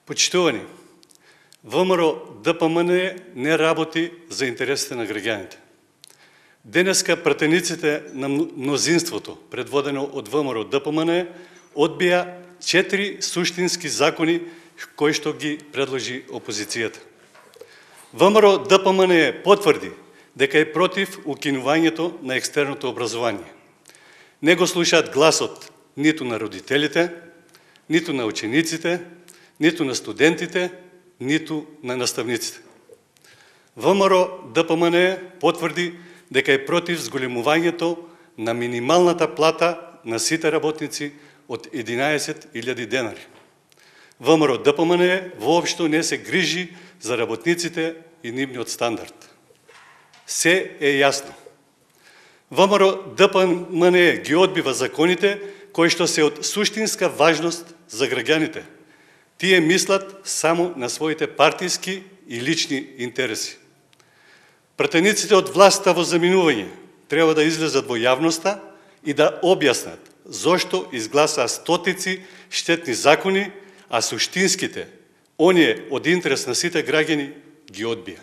Почитувани, ВМРО ДПМН не работи за интересите на граѓаните. Денеска пратениците на мнозинството, предводено од ВМРО ДПМН, одбија 4 суштински закони кои што ги предложи опозицијата. ВМРО ДПМН потврди дека е против укинувањето на екстерното образование. Не го слушаат гласот ниту на родителите, ниту на учениците, ниту на студентите, ниту на наставниците. ВМРО ДПМН потврди дека е против зголемувањето на минималната плата на сите работници од 11.000 денари. ВМРО ДПМН воопшто не се грижи за работниците и нивниот стандард. Се е јасно. ВМРО ДПМН ги одбива законите кои што се од суштинска важност за граѓаните. Тие мислат само на своите партиски и лични интереси. Пратениците од власта во заминување треба да излезат во јавноста и да објаснат зошто изгласаа стотици штетни закони, а суштинските, оние од интерес на сите граѓани, ги одбија.